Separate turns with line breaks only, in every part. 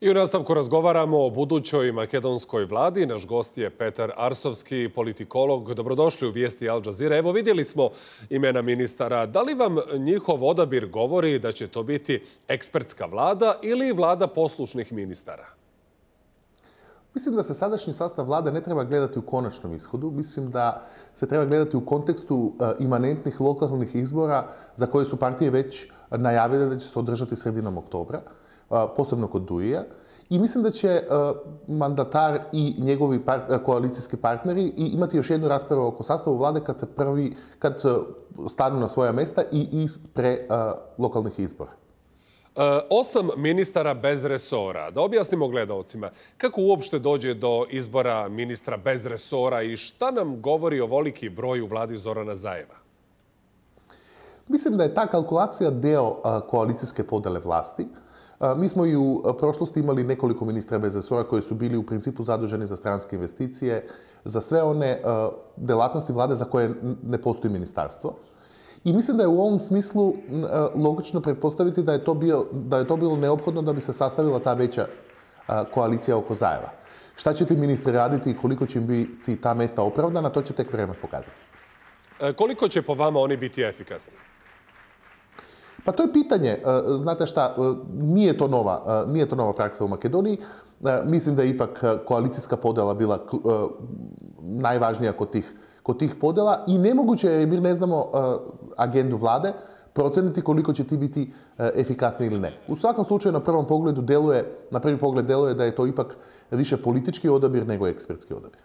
I u nastavku razgovaramo o budućoj makedonskoj vladi. Naš gost je Petar Arsovski, politikolog. Dobrodošli u Vijesti Al Jazeera. Evo, vidjeli smo imena ministara. Da li vam njihov odabir govori da će to biti ekspertska vlada ili vlada poslušnih ministara?
Mislim da se sadašnji sastav vlade ne treba gledati u konačnom ishodu. Mislim da se treba gledati u kontekstu imanentnih lokalnih izbora za koje su partije već najavile da će se održati sredinom oktobra, posebno kod Dujija. I mislim da će mandatar i njegovi koalicijski partneri imati još jednu raspravu oko sastavu vlade kad stanu na svoja mesta i pre lokalnih izbora.
8 ministara bez resora. Da objasnimo gledalcima kako uopšte dođe do izbora ministra bez resora i šta nam govori o voliki broj u vladi Zorana Zajeva?
Mislim da je ta kalkulacija deo koalicijske podele vlasti. Mi smo i u prošlosti imali nekoliko ministra bez resora koji su bili u principu zaduženi za stranske investicije, za sve one delatnosti vlade za koje ne postoji ministarstvo. I mislim da je u ovom smislu logično pretpostaviti da je to bilo neophodno da bi se sastavila ta veća koalicija oko Zajeva. Šta će ti ministri raditi i koliko će im biti ta mesta opravdana, to će tek vreme pokazati.
Koliko će po vama oni biti efikasni?
Pa to je pitanje. Znate šta, nije to nova praksa u Makedoniji. Mislim da je ipak koalicijska podela bila najvažnija kod tih podela i nemoguće je, jer mi ne znamo agendu vlade, proceniti koliko će ti biti efikasni ili ne. U svakom slučaju, na prvi pogled deluje da je to ipak više politički odabir nego ekspertski odabir.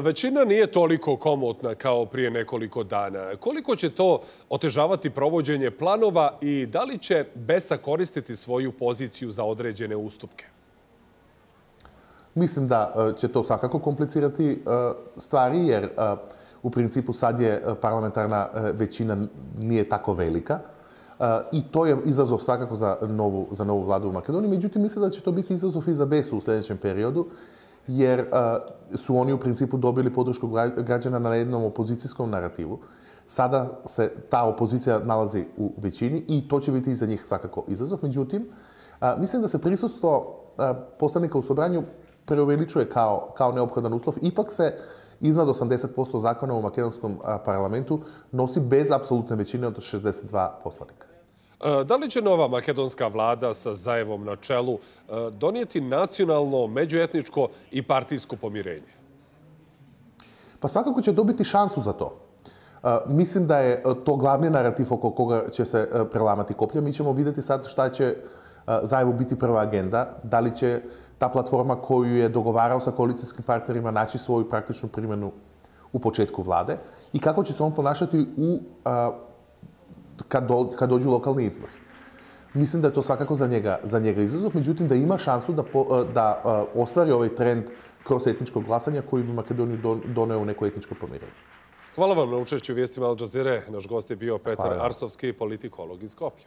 Većina nije toliko komotna kao prije nekoliko dana. Koliko će to otežavati provođenje planova i da li će Besa koristiti svoju poziciju za određene ustupke?
Mislim da će to svakako komplicirati stvari, jer u principu sad je parlamentarna većina nije tako velika i to je izazov svakako za novu vladu u Makedoniji. Međutim, mislim da će to biti izazov i za Besu u sljedećem periodu, jer su oni u principu dobili podršku građana na jednom opozicijskom narativu. Sada se ta opozicija nalazi u većini i to će biti i za njih svakako izazov. Međutim, mislim da se prisustvo poslanika u sobranju preuveličuje kao neophodan uslov. Ipak se iznad 80% zakona u makedonskom parlamentu nosi bez apsolutne većine od 62 poslanika.
Da li će nova makedonska vlada sa Zajevom na čelu donijeti nacionalno, međuetničko i partijsko pomirenje?
Pa svakako će dobiti šansu za to. Mislim da je to glavni narativ oko koga će se prelamati koplja. Mi ćemo vidjeti sad šta će Zajevu biti prva agenda. Da li će ta platforma koju je dogovarao sa koalicijskim partnerima naći svoju praktičnu primjenu u početku vlade i kako će se on ponašati kad dođu lokalni izbori. Mislim da je to svakako za njega izazov, međutim da ima šansu da ostvari ovaj trend kroz etničko glasanje koji bi Makedoniju doneo u neko etničko pomirenje.
Hvala vam na učešću u Vijestima Al Jazeera. Naš gost je bio Petar Arsovski, politikolog iz Skoplja.